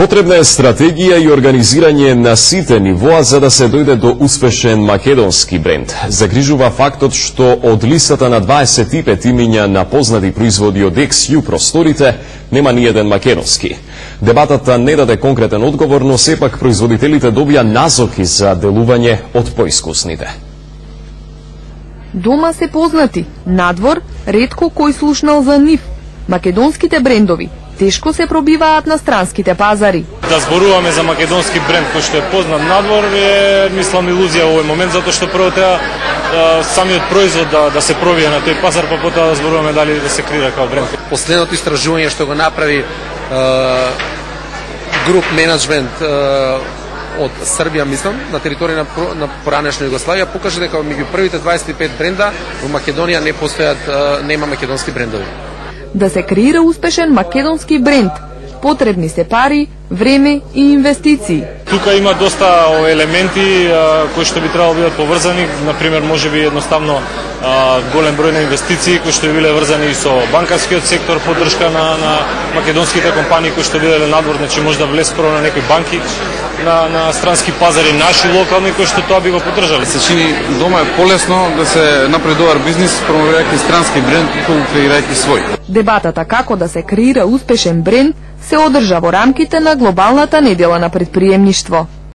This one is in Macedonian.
Потребна е стратегија и организирање на сите нивоа за да се дојде до успешен македонски бренд. Загрижува фактот што од листата на 25 имиња на познати производи од XU просторите нема ни еден македонски. Дебатата не даде конкретен одговор, но сепак производителите добија назоки за делување од поискусните. Дома се познати, надвор ретко кој слушнал за нив. Македонските брендови тешко се пробиваат на странските пазари. Да зборуваме за македонски бренд кој што е познат надвор е, мислам, илузија во овој момент, затоа што прво треба самиот производ да се пробие на тој пазар, па потоа да зборуваме дали да се креира како бренд. Последното истражување што го направи груп менеджмент од Србија, мислам, на територија на поранешна Југославија, покажа дека меѓу првите 25 бренда во Македонија не постојат, нема македонски брендови. Да се креира успешен македонски бренд, потребни се пари, време и инвестиции. Тука има доста елементи кои што би требало да бидат поврзани, например, можеби едноставно голем број на инвестиции кои што би биле врзани и со банкарскиот сектор, поддршка на македонските компании кои што биделе надвор, значи може да влез прво на некои банки на странски пазари, наши локални кои што тоа би го поддржале. Се чини дома е полесно да се направи добар бизнис промовирајќи странски бренд и креирајќи свој. Дебатата како да се креира успешен бренд се одржа во рамките на глобалната недела на претприемништво.